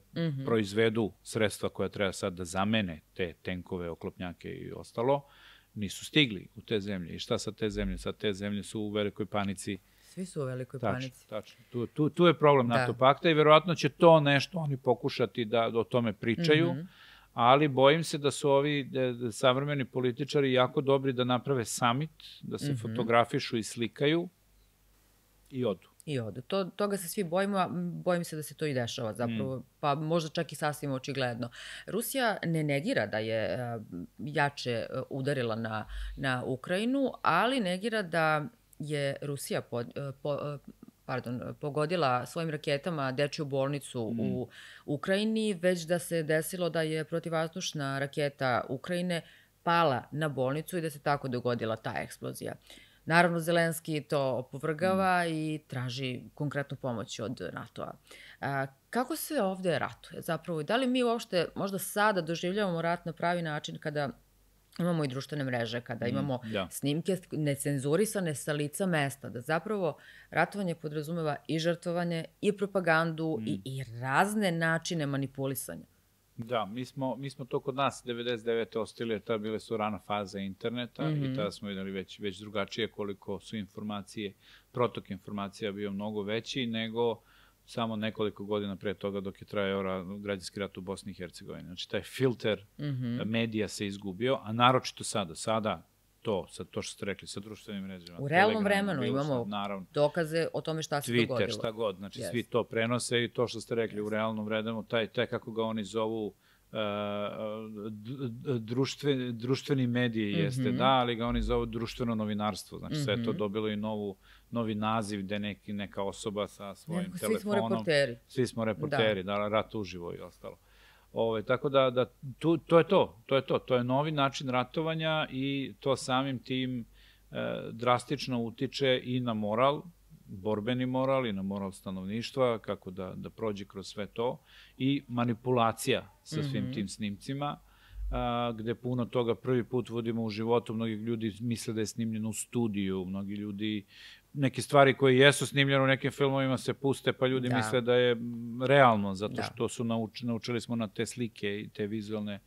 proizvedu sredstva koja treba sad da zamene te tenkove, oklopnjake i ostalo, nisu stigli u te zemlje. I šta sa te zemlje? Sad te zemlje su u velikoj panici. Svi su u velikoj panici. Tačno. Tu je problem NATO pakta i verovatno će to nešto oni pokušati da o tome pričaju, ali bojim se da su ovi savremeni političari jako dobri da naprave summit, da se fotografišu i slikaju i odu. I odu. Toga se svi bojimo, a bojim se da se to i dešava zapravo, pa možda čak i sasvim očigledno. Rusija ne negira da je jače udarila na Ukrajinu, ali negira da je Rusija pogodila svojim raketama dečju bolnicu u Ukrajini, već da se desilo da je protivvazdušna raketa Ukrajine pala na bolnicu i da se tako dogodila ta eksplozija. Naravno, Zelenski to opovrgava i traži konkretnu pomoć od NATO-a. Kako se ovde ratuje zapravo? Da li mi uopšte možda sada doživljavamo rat na pravi način kada imamo i društvene mreže, kada imamo snimke necenzurisane sa lica mesta, da zapravo ratovanje podrazumeva i žrtvovanje, i propagandu, i razne načine manipulisanja? Da, mi smo to kod nas 99. ostili, jer tada bile su rana faza interneta i tada smo videli već drugačije koliko su informacije, protok informacija bio mnogo veći nego samo nekoliko godina pre toga dok je trajao građanski rat u Bosni i Hercegovini. Znači, taj filter medija se izgubio, a naročito sada to što ste rekli, sa društvenim mrežama. U realnom vremenu imamo dokaze o tome šta se dogodilo. Twitter, šta god, znači svi to prenose i to što ste rekli u realnom vremenu, taj kako ga oni zovu društveni mediji jeste, da, ali ga oni zovu društveno novinarstvo. Znači, sve to dobilo i novi naziv gde neka osoba sa svojim telefonom. Svi smo reporteri. Svi smo reporteri, da, rat uživo i ostalo. Tako da to je to. To je novi način ratovanja i to samim tim drastično utiče i na moral, borbeni moral i na moral stanovništva, kako da prođe kroz sve to, i manipulacija sa svim tim snimcima, gde puno toga prvi put vodimo u životu. Mnogi ljudi misle da je snimljeno u studiju, mnogi ljudi, neke stvari koje jesu snimljene u nekim filmovima se puste, pa ljudi misle da je realno, zato što su naučili smo na te slike i te vizualne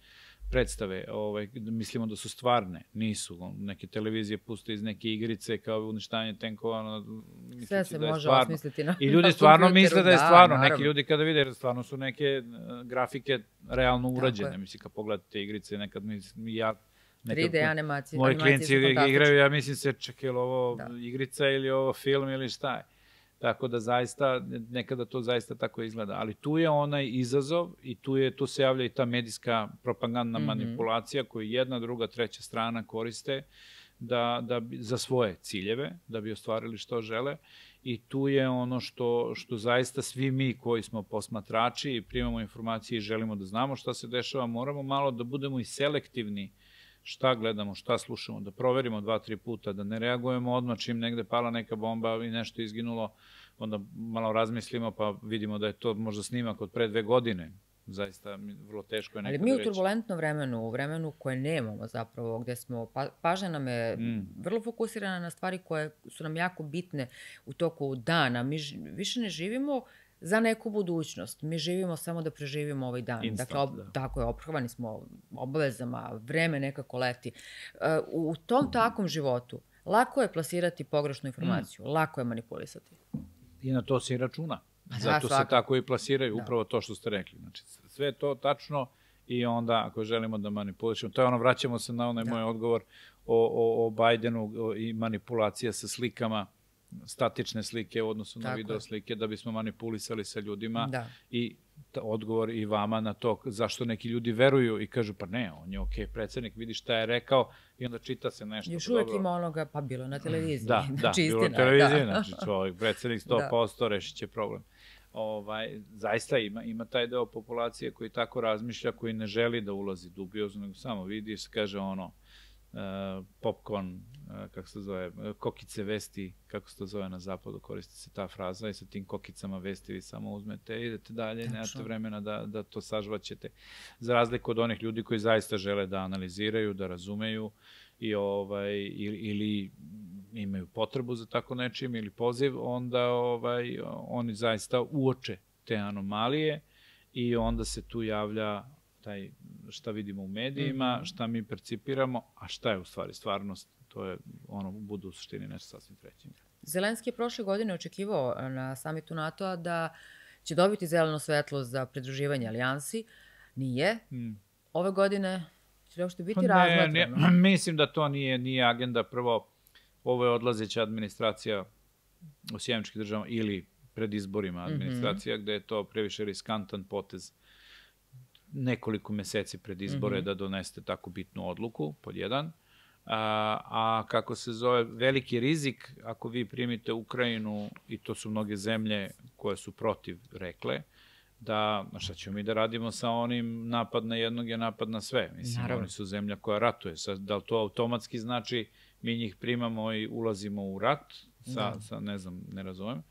predstave, mislimo da su stvarne, nisu. Neke televizije puste iz neke igrice kao uništavanje tenkova. Sve se može osmisliti na kompjuteru. I ljudi stvarno misle da je stvarno. Neki ljudi kada vide, stvarno su neke grafike realno urađene. Mislim, kad pogledate igrice, nekad ja... 3D animacije. Moji klijenti igraju, ja mislim se, čekaj, ili ovo igrica ili ovo film ili šta je. Tako da zaista, nekada to zaista tako izgleda. Ali tu je onaj izazov i tu se javlja i ta medijska propagandna manipulacija koju jedna, druga, treća strana koriste za svoje ciljeve, da bi ostvarili što žele. I tu je ono što zaista svi mi koji smo posmatrači i primamo informacije i želimo da znamo šta se dešava, moramo malo da budemo i selektivni šta gledamo, šta slušamo, da proverimo 2-3 puta, da ne reagujemo odmah čim negde pala neka bomba i nešto izginulo, onda malo razmislimo pa vidimo da je to možda snimak od pre 2 godine. Zaista vrlo teško je nekada reći. Ali mi u turbulentnom vremenu, u vremenu koje nemamo zapravo, gde smo, pažnja nam je vrlo fokusirana na stvari koje su nam jako bitne u toku dana. Mi više ne živimo za neku budućnost. Mi živimo samo da preživimo ovaj dan. Dakle, tako je, ophrvani smo obavezama, vreme nekako leti. U tom takvom životu lako je plasirati pogrešnu informaciju, lako je manipulisati. I na to se i računa. Zato se tako i plasiraju, upravo to što ste rekli. Znači, sve je to tačno i onda, ako želimo da manipulišemo, to je ono, vraćamo se na onaj moj odgovor o Bajdenu i manipulacija sa slikama, statične slike u odnosu na video slike, da bismo manipulisali sa ljudima i odgovor i vama na to zašto neki ljudi veruju i kažu pa ne, on je okej predsednik, vidi šta je rekao i onda čita se nešto. Još uvijek ima onoga, pa bilo na televiziji. Da, bilo na televiziji, znači čovjek, predsednik 100%, rešit će problem. Zaista ima taj deo populacije koji tako razmišlja, koji ne želi da ulazi dubiozno, nego samo vidi i se kaže ono, popcorn, kako se zove, kokice vesti, kako se to zove na zapadu, koristi se ta fraza i sa tim kokicama vesti vi samo uzmete i idete dalje, nemate vremena da to sažvaćete. Za razliku od onih ljudi koji zaista žele da analiziraju, da razumeju ili imaju potrebu za tako nečim ili poziv, onda oni zaista uoče te anomalije i onda se tu javlja taj šta vidimo u medijima, šta mi percipiramo, a šta je u stvari stvarnost, to je ono, bude u suštini nešto sasvim treće. Zelenski je prošle godine očekivao na samitu NATO-a da će dobiti zeleno svetlo za pridruživanje alijansi. Nije. ove godine će li uopšte biti razmatrano? Mislim da to nije agenda. Prvo, ovo je odlazeća administracija u Sjemeničkih država ili pred izborima administracija, gde je to previše riskantan potez nekoliko meseci pred izbore da doneste tako bitnu odluku, pod jedan. A kako se zove, veliki rizik, ako vi primite Ukrajinu, i to su mnoge zemlje koje su protiv rekle, da, šta ćemo mi da radimo sa onim napad na jednog je napad na sve. Mislim, oni su zemlja koja ratuje. Da li to automatski znači mi njih primamo i ulazimo u rat, ne znam, ne razumem,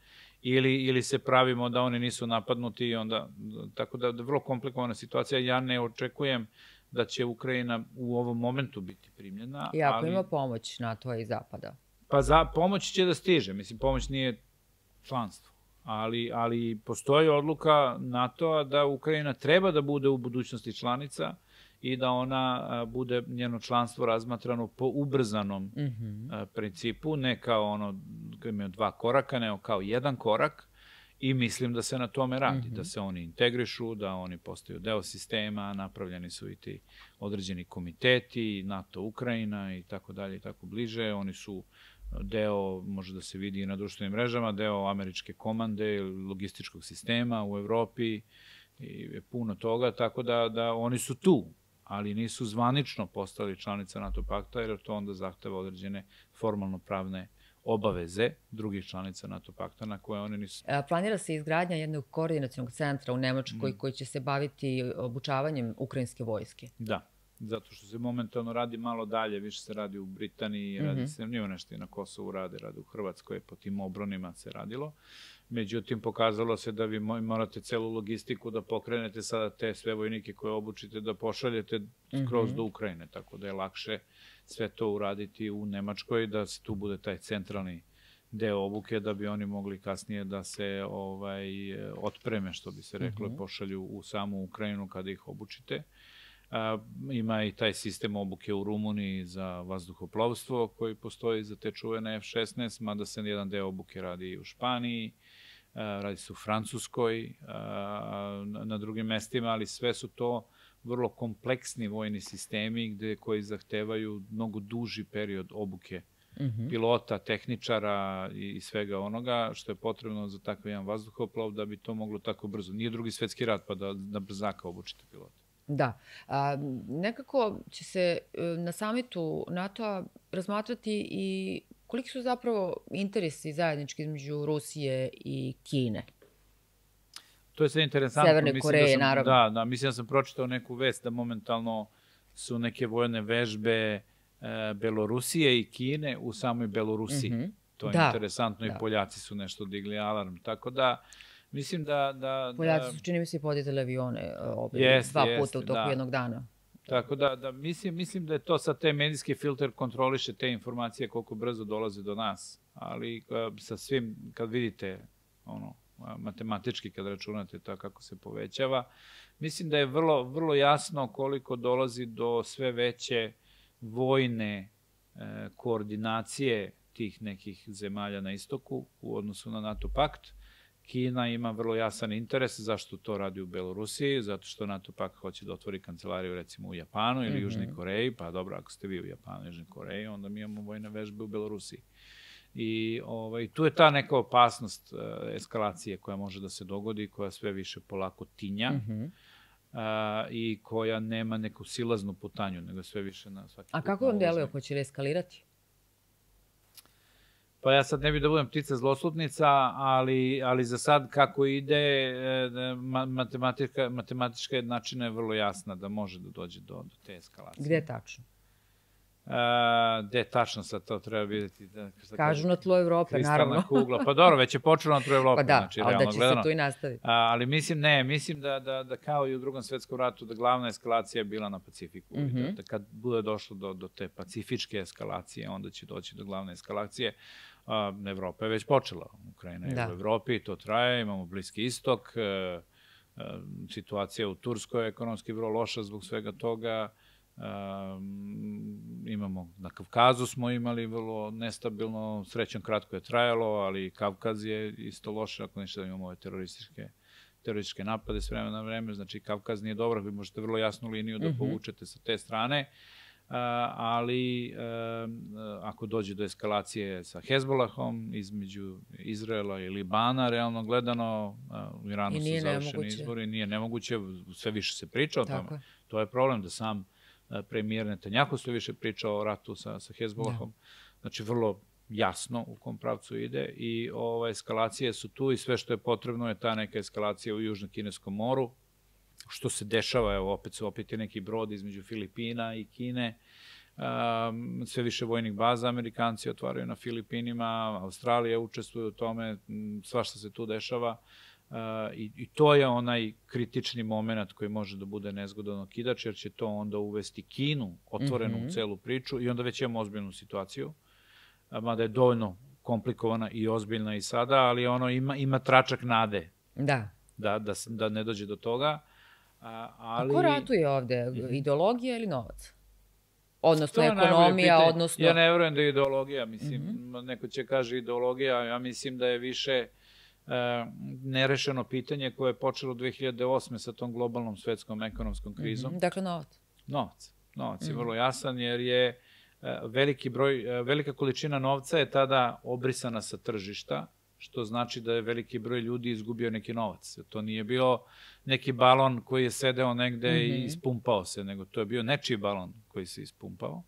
ili se pravimo da oni nisu napadnuti i onda, tako da je vrlo komplikovana situacija. Ja ne očekujem da će Ukrajina u ovom momentu biti primljena. I ako ima pomoć NATO i Zapada? Pa pomoć će da stiže. Mislim, pomoć nije članstvo. Ali postoji odluka NATO-a da Ukrajina treba da bude u budućnosti članica i da ona bude njeno članstvo razmatrano po ubrzanom principu, ne kao ono koji imaju 2 koraka, nego kao 1 korak, i mislim da se na tome radi, da se oni integrišu, da oni postaju deo sistema, napravljeni su i ti određeni komiteti, NATO, Ukrajina i tako dalje i tako bliže. Oni su deo, može da se vidi i na društvenim mrežama, deo američke komande, logističkog sistema u Evropi i puno toga, tako da oni su tu, ali nisu zvanično postali članica NATO pakta, jer to onda zahteva određene formalno-pravne obaveze drugih članica NATO pakta na koje oni nisu. Planira se izgradnja jednog koordinacionog centra u Nemačkoj koji će se baviti obučavanjem ukrajinske vojske. Da, zato što se momentalno radi malo dalje, više se radi u Britaniji, radi se, nije nešto i na Kosovu radi u Hrvatskoj, po tim obronima se radilo. Međutim, pokazalo se da vi morate celu logistiku da pokrenete sada te sve vojnike koje obučite, da pošaljete skroz do Ukrajine, tako da je lakše sve to uraditi u Nemačkoj, da se tu bude taj centralni deo obuke, da bi oni mogli kasnije da se otpreme, što bi se reklo, pošalju u samu Ukrajinu kada ih obučite. Ima i taj sistem obuke u Rumuniji za vazduhoplovstvo koji postoji za te čuvene F-16, mada se jedan deo obuke radi i u Španiji, radi se u Francuskoj, na drugim mestima, ali sve su to vrlo kompleksni vojni sistemi koji zahtevaju mnogo duži period obuke pilota, tehničara i svega onoga što je potrebno za takav jedan vazduhoplov da bi to moglo tako brzo. Nije Drugi svetski rat pa da na brzaka obučite pilota. Da. Nekako će se na samitu NATO-a razmatrati i koliki su zapravo interesi zajednički između Rusije i Kine. To je sve interesantno. Severne Koreje, naravno. Da, mislim da sam pročitao neku vest da momentalno su neke vojne vežbe Belorusije i Kine u samoj Belorusiji. To je interesantno i Poljaci su nešto digli alarm. Tako da, mislim da... Poljaci su, čini mi se, podizali avione 2 puta u toku jednog dana. Tako da, mislim da je to sad te medijski filter kontroliše te informacije koliko brzo dolaze do nas. Ali sa svim, kad vidite matematički, kad računate to kako se povećava, mislim da je vrlo jasno koliko dolazi do sve veće vojne koordinacije tih nekih zemalja na istoku u odnosu na NATO pakt. Kina ima vrlo jasan interes zašto to radi u Belorusiji, zato što NATO pakt hoće da otvori kancelariju recimo u Japanu ili Južnoj Koreji, pa dobro, ako ste vi u Japanu i Južnoj Koreji, onda mi imamo vojne vežbe u Belorusiji. I tu je ta neka opasnost eskalacije koja može da se dogodi, koja sve više polako tinja i koja nema neku silaznu putanju, nego sve više na svaki... A kako vam deluje, hoće li eskalirati? Pa ja sad ne bih da budem ptica zloslutnica, ali za sad kako ide, matematička jednačina je vrlo jasna da može da dođe do te eskalacije. Gde tačno? Gde tačno sad to treba vidjeti? Kažu na tlu Evrope, naravno. Kristalna kugla. Pa dobro, već je počelo na tlu Evrope. Pa da, ali da će se tu i nastaviti. Ali mislim da kao i u Drugom svetskom ratu, da glavna eskalacija je bila na Pacifiku. Da kad bude došlo do te pacifičke eskalacije, onda će doći do glavne eskalacije. Evropa je već počela. Ukrajina je u Evropi, to traje, imamo Bliski istok, situacija u Turskoj je ekonomski vrlo loša zbog svega toga. Imamo, na Kavkazu smo imali vrlo nestabilno, srećom kratko je trajalo, ali Kavkaz je isto loše, ako ništa da imamo ove terorističke napade s vremena na vreme, znači Kavkaz nije dobro, vi možete vrlo jasnu liniju da povučete sa te strane, ali ako dođe do eskalacije sa Hezbolahom između Izraela i Libana, realno gledano, u Iranu su završeni izbori, nije nemoguće, sve više se priča o tome. To je problem da sam premijer Netanjahu sve više priča o ratu sa Hezbolahom. Znači, vrlo jasno u kom pravcu ide i eskalacije su tu i sve što je potrebno je ta neka eskalacija u Južnom Kineskom moru, što se dešava, evo, opet je neki brod između Filipina i Kine, sve više vojnih baza Amerikanci otvaraju na Filipinima, Australija učestvuje u tome, svašta se tu dešava i to je onaj kritični moment koji može da bude nezgodan okidač, jer će to onda uvesti Kinu otvorenu u celu priču i onda već imamo ozbiljnu situaciju, mada je dovoljno komplikovana i ozbiljna i sada, ali ono ima tračak nade da ne dođe do toga. A ko ratuje ovde? Ideologija ili novac? Odnosno ekonomija, odnosno... Ja ne verujem da je ideologija, mislim, neko će kaže ideologija, ja mislim da je više nerešeno pitanje koje je počelo 2008. sa tom globalnom svetskom ekonomskom krizom. Dakle, novac. Novac je vrlo jasan, jer je velika količina novca je tada obrisana sa tržišta, što znači da je veliki broj ljudi izgubio neki novac. To nije bio neki balon koji je sedeo negde i ispumpao se, nego to je bio nečiji balon koji se ispumpao.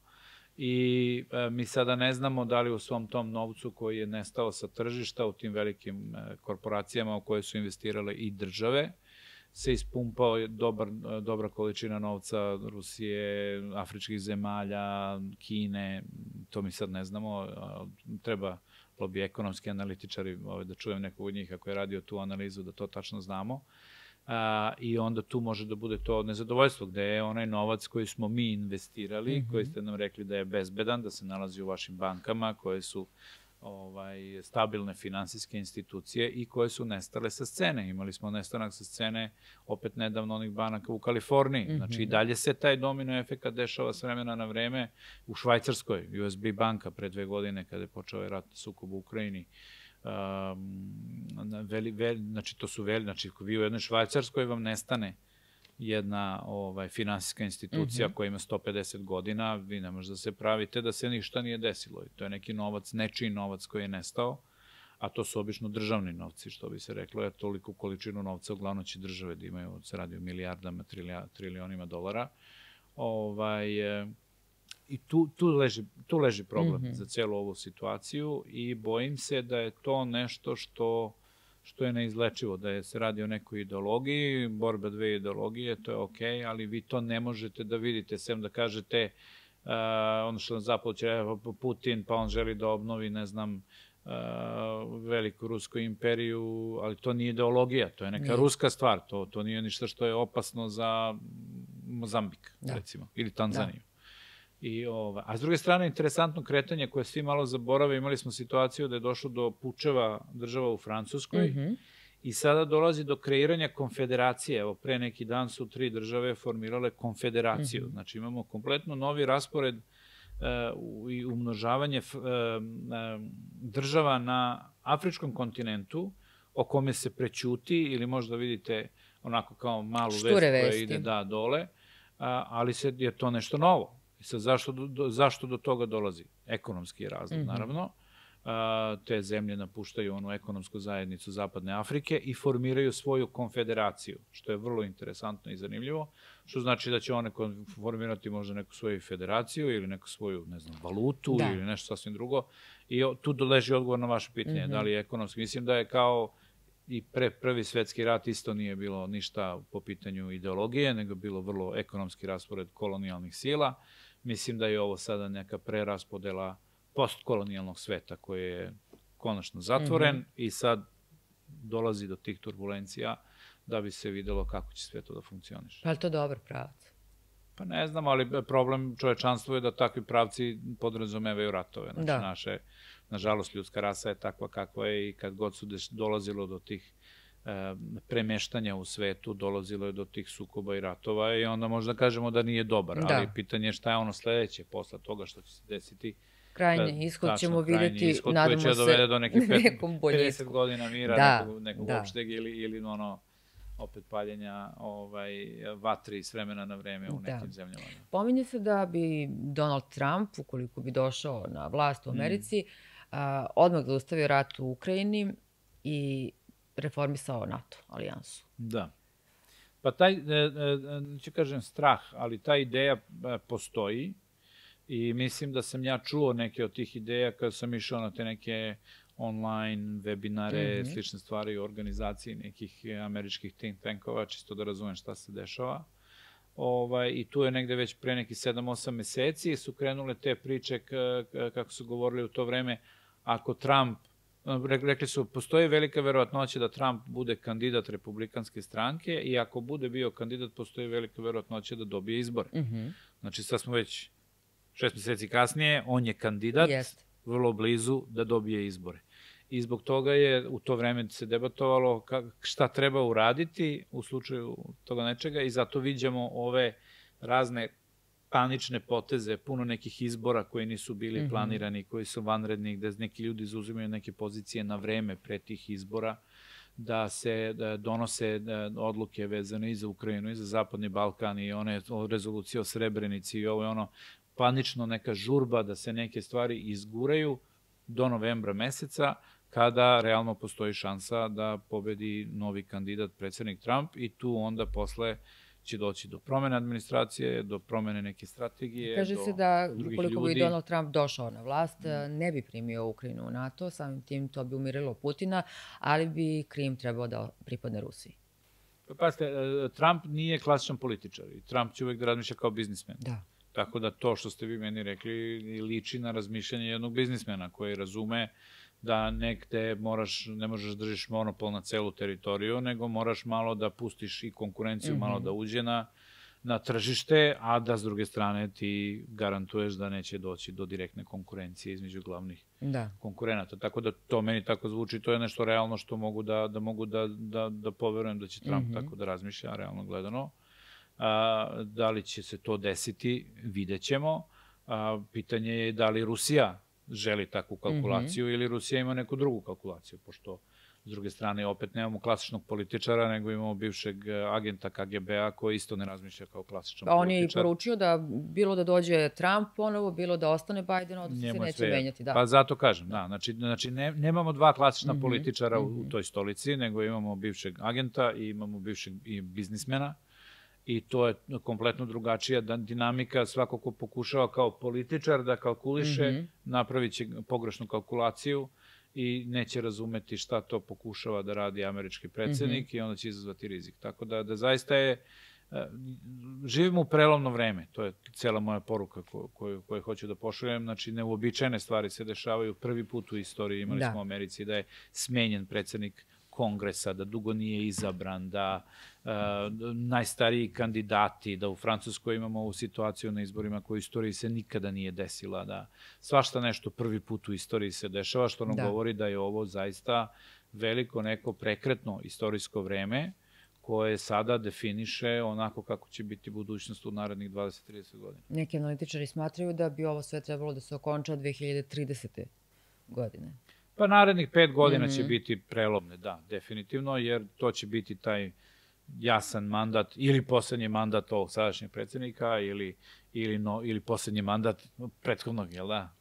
I mi sada ne znamo da li u svom tom novcu koji je nestao sa tržišta u tim velikim korporacijama u koje su investirale i države, se ispumpao dobra količina novca Rusije, afričkih zemalja, Kine, to mi sad ne znamo, treba bi ekonomski analitičari da čujem nekog od njih ako je radio tu analizu da to tačno znamo. I onda tu može da bude to nezadovoljstvo, gde je onaj novac koji smo mi investirali, koji ste nam rekli da je bezbedan, da se nalazi u vašim bankama, koje su stabilne finansijske institucije i koje su nestale sa scene. Imali smo nestanak sa scene opet nedavno onih banaka u Kaliforniji. Znači i dalje se taj domino efekat dešava s vremena na vreme u Švajcarskoj, USB banka pre 2 godine kada je počeo rat sukob u Ukrajini. Znači to su znači vi u jednoj Švajcarskoj vam nestane jedna finansijska institucija koja ima 150 godina, vi ne možete da se pravite da se ništa nije desilo. To je neki novac, nečiji novac koji je nestao, a to su obično državni novci, što bi se reklo, jer toliku količinu novca uglavnom će države da imaju, se radi o milijardama, trilionima dolara. I tu leži problem za celu ovu situaciju i bojim se da je to nešto što je neizlečivo, da se radi o nekoj ideologiji, borba dve ideologije, to je okej, ali vi to ne možete da vidite, sem da kažete ono što na zapadu će Putin, pa on želi da obnovi, ne znam, veliku rusku imperiju, ali to nije ideologija, to je neka ruska stvar, to nije ništa što je opasno za Mozambik, recimo, ili Tanzaniju. A s druge strane, interesantno kretanje koje svi malo zaborave, imali smo situaciju da je došlo do pučeva država u Francuskoj i sada dolazi do kreiranja konfederacije. Evo, pre neki dan su 3 države formirale konfederaciju. Znači imamo kompletno novi raspored i umnožavanje država na afričkom kontinentu o kome se prećuti ili možda vidite onako kao malu vest koja ide dole, ali je to nešto novo. I sad, zašto do toga dolazi? Ekonomski je razlog, naravno. Te zemlje napuštaju onu ekonomsku zajednicu Zapadne Afrike i formiraju svoju konfederaciju, što je vrlo interesantno i zanimljivo, što znači da će one formirati možda neku svoju federaciju ili neku svoju, ne znam, valutu ili nešto sasvim drugo. I tu leži odgovor na vaše pitanje, da li je ekonomski. Mislim da je kao i pre Prvi svetski rat isto nije bilo ništa po pitanju ideologije, nego bilo vrlo ekonomski raspored kolonijalnih sila. Mislim da je ovo sada neka preraspodela postkolonijalnog sveta koji je konačno zatvoren i sad dolazi do tih turbulencija da bi se videlo kako će sve to da funkcioniše. Pa je li to dobar pravac? Pa ne znam, ali problem čovečanstva je da takvi pravci podrazumevaju ratove. Znači, nažalost, ljudska rasa je takva kakva je i kad god su dolazilo do tih premeštanja u svetu, dolazilo je do tih sukoba i ratova i onda možda kažemo da nije dobar, ali pitanje je šta je ono sledeće posle toga što će se desiti. Krajnji ishod ćemo vidjeti, nadamo se, nekom dovede do nekih 50 godina mira, nekog opšteg ili ono opet paljenja vatri s vremena na vreme u nekim zemljama. Pominje se da bi Donald Trump, ukoliko bi došao na vlast u Americi, odmah zaustavio rat u Ukrajini i reformisao NATO alijansu. Da. Pa taj, neću kažem strah, ali ta ideja postoji i mislim da sam ja čuo neke od tih ideja kada sam išao na te neke online webinare, slične stvari u organizaciji nekih američkih think tankova, čisto da razumem šta se dešava. I tu je negde već pre nekih 7-8 meseci su krenule te priče, kako su govorili u to vreme, ako Trump, rekli su, postoji velika verovatnoća da Trump bude kandidat republikanske stranke i ako bude bio kandidat, postoji velika verovatnoća da dobije izbore. Znači, sad smo već 6 meseci kasnije, on je kandidat, vrlo blizu da dobije izbore. I zbog toga je u to vreme se debatovalo šta treba uraditi u slučaju toga nečega i zato viđamo ove razne panične poteze, puno nekih izbora koji nisu bili planirani, koji su vanredni, gde neki ljudi zauzimaju neke pozicije na vreme pre tih izbora, da se donose odluke vezane i za Ukrajinu, i za Zapadni Balkan, i one rezolucije o Srebrenici i ovo je ono, panično neka žurba da se neke stvari izguraju do novembra meseca, kada realno postoji šansa da pobedi novi kandidat, predsednik Trump, i tu onda posle će doći do promene administracije, do promene neke strategije. Kaže se da ukoliko bi Donald Trump došao na vlast, ne bi primio Ukrajinu u NATO, samim tim to bi umirilo Putina, ali bi Krim trebao da pripadne Rusiji. Pazite, Trump nije klasičan političar i Trump će uvek da razmišlja kao biznismen. Da. Tako da to što ste vi meni rekli liči na razmišljanje jednog biznismena koji razume da negde ne možeš da držiš monopol na celu teritoriju, nego moraš malo da pustiš i konkurenciju, malo da uđe na tržište, a da s druge strane ti garantuješ da neće doći do direktne konkurencije između glavnih konkurenata. Tako da to meni tako zvuči, to je nešto realno što mogu da poverujem da će Trump tako da razmišlja, realno gledano. Da li će se to desiti, vidjet ćemo. Pitanje je da li Rusija želi takvu kalkulaciju ili Rusija ima neku drugu kalkulaciju, pošto s druge strane opet nemamo klasičnog političara, nego imamo bivšeg agenta KGB-a koji isto ne razmišlja kao klasičan političar. On je i poručio da bilo da dođe Trump ponovo, bilo da ostane Biden, odnosno se neće menjati. Pa zato kažem, da. Znači nemamo dva klasična političara u toj stolici, nego imamo bivšeg agenta i imamo bivšeg biznismena. I to je kompletno drugačija dinamika. Svako ko pokušava kao političar da kalkuliše, napravit će pogrešnu kalkulaciju i neće razumeti šta to pokušava da radi američki predsednik i onda će izazvati rizik. Tako da zaista je, živimo u prelomno vreme, to je cela moja poruka koju hoću da pošaljem. Znači, neuobičajene stvari se dešavaju. Prvi put u istoriji imali smo u Americi da je smenjen predsednik kongresa, da dugo nije izabran, da najstariji kandidati, da u Francuskoj imamo ovu situaciju na izborima koja u istoriji se nikada nije desila, da svašta nešto prvi put u istoriji se dešava, što nam govori da je ovo zaista veliko neko prekretno istorijsko vreme koje sada definiše onako kako će biti budućnost u narednih 20-30 godina. Neki analitičari smatraju da bi ovo sve trebalo da se okonča 2030. godine. Pa narednih 5 godina će biti prelomne, da, definitivno, jer to će biti taj jasan mandat ili poslednji mandat ovog sadašnjeg predsednika ili poslednji mandat prethodnog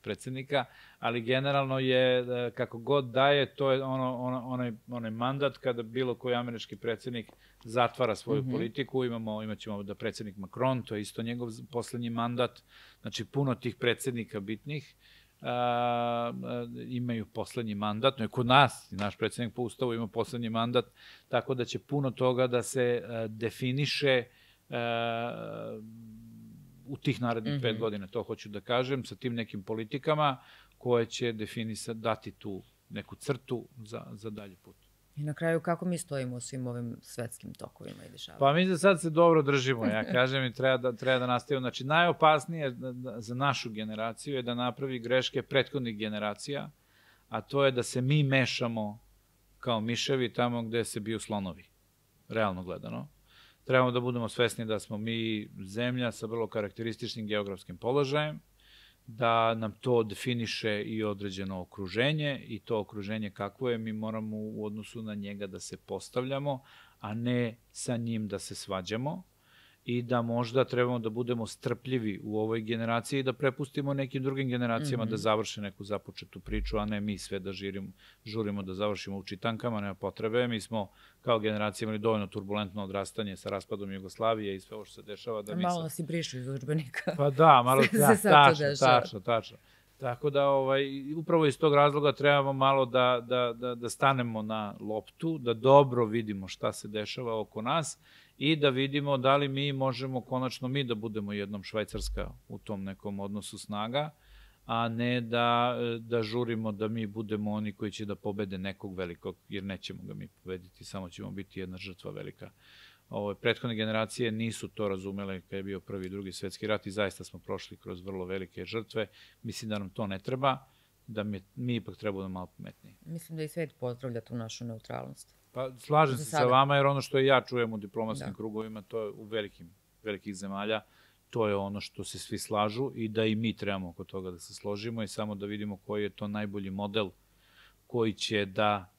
predsednika, ali generalno je, kako god daje, to je onaj mandat kada bilo koji američki predsednik zatvara svoju politiku. Imaćemo da predsednik Macron, to je isto njegov poslednji mandat, znači puno tih predsednika bitnih imaju poslednji mandat, no i kod nas, naš predsednik po ustavu ima poslednji mandat, tako da će puno toga da se definiše u tih narednih 5 godina, to hoću da kažem, sa tim nekim politikama koje će dati tu neku crtu za dalji put. I na kraju, kako mi stojimo u svim ovim svetskim tokovima i dešavanjima? Pa mi za sad se dobro držimo, ja kažem, i treba da nastavimo. Znači, najopasnije za našu generaciju je da napravi greške prethodnih generacija, a to je da se mi mešamo kao miševi tamo gde se biju slonovi, realno gledano. Trebamo da budemo svesni da smo mi zemlja sa vrlo karakterističnim geografskim položajem, da nam to definiše i određeno okruženje i to okruženje kakvo je, mi moramo u odnosu na njega da se postavljamo, a ne sa njim da se svađamo i da možda trebamo da budemo strpljivi u ovoj generaciji i da prepustimo nekim drugim generacijama da završe neku započetu priču, a ne mi sve da žurimo da završimo u čitankama, nema potrebe. Mi smo kao generacija imali dovoljno turbulentno odrastanje sa raspadom Jugoslavije i sve ovo što se dešava. Da malo nas i brišu iz udžbenika. Pa da, malo tačno. Tako da upravo iz tog razloga trebamo malo da stanemo na loptu, da dobro vidimo šta se dešava oko nas i da vidimo da li mi možemo konačno mi da budemo jednom Švajcarska u tom nekom odnosu snaga, a ne da žurimo da mi budemo oni koji će da pobede nekog velikog, jer nećemo ga mi pobediti, samo ćemo biti jedna žrtva velika. Prethodne generacije nisu to razumele kada je bio Prvi i Drugi svetski rat i zaista smo prošli kroz vrlo velike žrtve. Mislim da nam to ne treba, da mi ipak treba da malo pametniji. Mislim da i svet pozdravlja tu našu neutralnost. Pa slažem se sa vama, jer ono što ja čujem u diplomatskim krugovima, to je u velikih zemalja, to je ono što se svi slažu i da i mi trebamo oko toga da se složimo i samo da vidimo koji je to najbolji model koji će da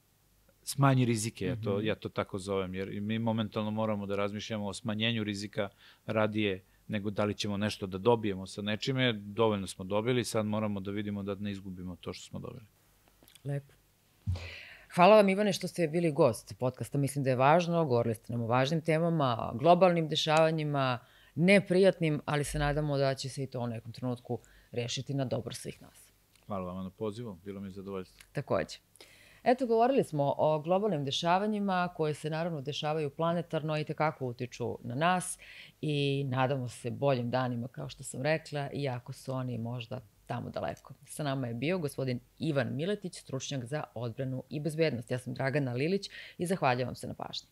smanji rizike, ja to tako zovem, jer mi momentalno moramo da razmišljamo o smanjenju rizika radije nego da li ćemo nešto da dobijemo sa nečime. Dovoljno smo dobili, sad moramo da vidimo da ne izgubimo to što smo dobili. Lepo. Hvala vam, Ivane, što ste bili gost podcasta. Mislim da je važno, govorili ste nam o važnim temama, globalnim dešavanjima, neprijatnim, ali se nadamo da će se i to u nekom trenutku rešiti na dobro svih nas. Hvala vam na pozivu, bilo mi je zadovoljstvo. Takođe. Eto, govorili smo o globalnim dešavanjima koje se naravno dešavaju planetarno i tekako utiču na nas i nadamo se boljim danima, kao što sam rekla, iako su oni možda tamo daleko. Sa nama je bio gospodin Ivan Miletić, stručnjak za odbranu i bezbednost. Ja sam Dragana Lilić i zahvaljujem vam se na pažnji.